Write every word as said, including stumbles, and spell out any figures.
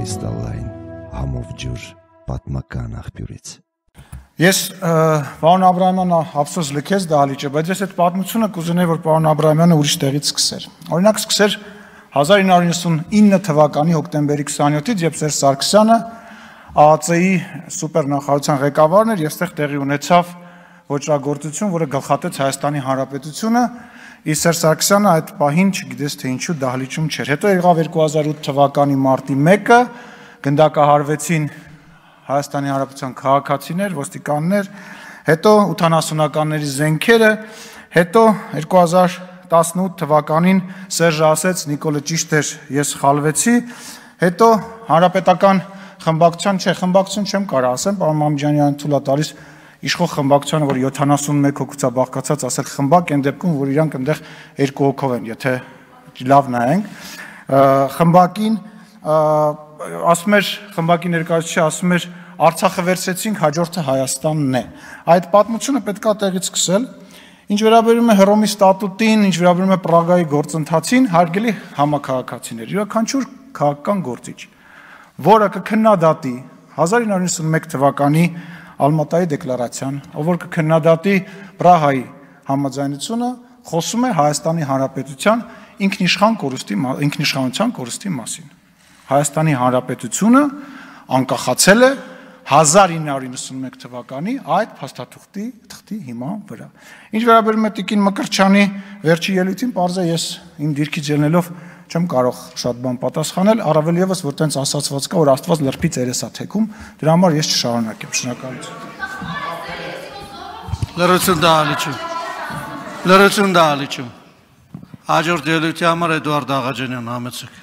կրիստալային համով ջուր պատմական աղբյուրից։ Ես պարոն Աբրահամյանը ափսոս լքեց դահլիճը, բայց ես այդ պատմությունը կուզենայի, որ պարոն Աբրահամյանը ուրիշ տեղից սկսեր։ Օրինակ սկսեր հազար ինը հարյուր իննսունինը թվականի հոկտեմբերի քսաներկուսից, երբ Սերժ Սարգսյանը ԱԱԾ-ի սուպերնախարարության ղեկավարն էր, եւ այստեղ տեղի ունեցավ ոճրագործություն, որը գլխատեց Հայաստանի Հանրապետությունը, իսկ Սերժ Սարգսյանը այդ պահին չգիտես թե ինչու դահլիճում չէր։ Հետո եղավ երկու հազար ութ թվականի մարտի մեկը, գնդակահարվեցին Հայաստանի Հանրապետության քաղաքացիներ, ոստիկաններ, հետո ութանասունականների զենքերը, հետո երկու հազար տասնութ թվականին Սերժը ասեց Նիկոլը ճիշտ էր, ես խալվեցի, հետո հանրապետական խմբակցության, չէ, խմբակցություն չեմ կարող ասեմ, պարոն Մամջանյանը թույլ է տալիս իշխող խմբակցությանը, որ յոթանասունմեկ հոգուց է բաղկացած, ասել խմբակ, այն դեպքում, որ իրանք այնտեղ երկու հոգով են, եթե լավ նայենք, խմբակին ասում էր, խմբակի ներկայացուցիչը ասում էր, Արցախը վերցրեցինք, հաջորդը Հայաստանն է։ Այդ պատմությունը պետք է տեղից սկսել։ Ինչ վերաբերում է Հռոմի ստատուտին, ինչ վերաբերում է Պրագայի գործընթացին, հարգելի համաքաղաքացիներ, յուրաքանչյուր քաղաքական գործիչ, որը կքննադատի հազար ինը հարյուր իննսունմեկ թվականի Ալմատայի դեկլարացիան, ով որ կքննադատի Պրահայի համաձայնությունը, խոսում է Հայաստանի Հանրապետության ինքնիշխան կորուստի, ինքնիշխանության կորուստի մասին։ Հայաստանի Հանրապետությունը անկախացել է հազար ինը հարյուր իննսունմեկ թվականի այդ փաստաթղթի թղթի հիման վրա։ Ինչ վերաբերում է Տիկին Մկրտչյանի վերջի ելույթին, պարզ է ես իմ դիրքից ելնելով չեմ կարող շատ բան պատասխանել, առավել եւս որ տենց ասացված կա, որ Աստված լրբի ծերես է թեքում, դրա համար ես չշարունակեմ, շնորհակալություն։ Լրություն դահլիճում։ Լրություն դահլիճում։ Հաջորդ ելույթի համար Էդուարդ Աղաջանյան, համեցեք։